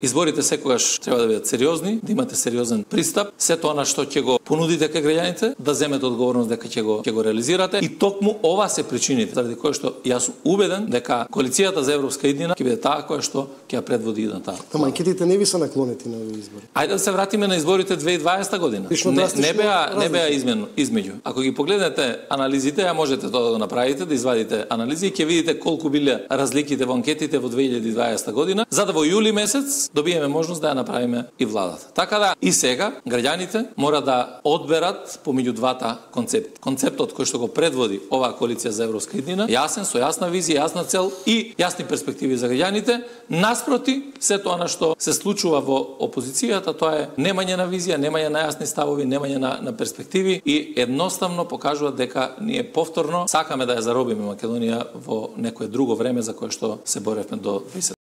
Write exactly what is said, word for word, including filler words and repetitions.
Изборите секогаш треба да бидат сериозни, да имате сериозен пристап, се тоа на што ќе го понудите кај граѓаните, да земете одговорност дека ќе го ќе го реализирате и токму ова се причините заради кои што јас сум убеден дека коалицијата за европска иднина ќе биде таа која што ќе ја предводи идната. Ама анкетите не ви се наклонети на овие избори. Ајде да се вратиме на изборите две илјади и дваесета година. Не, не беа не беа измено измеѓу. Ако ги погледнете анализите, ја можете тоа да го направите, да извадите анализи и ќе видите колку биле разликите во анкетите во две илјади и дваесета година, за да во јули месец добиеме можност да ја направиме и владата. Така да и сега граѓаните мора да одберат помеѓу двата концепти. Концептот кој што го предводи оваа коалиција за европска иднина, јасен, со јасна визија, јасна цел и јасни перспективи за граѓаните, наспроти се тоа на што се случува во опозицијата, тоа е немање на визија, немање на јасни ставови, немање на, на перспективи и едноставно покажува дека ние повторно сакаме да ја заробиме Македонија во некое друго време за кое што се боревме до дваесет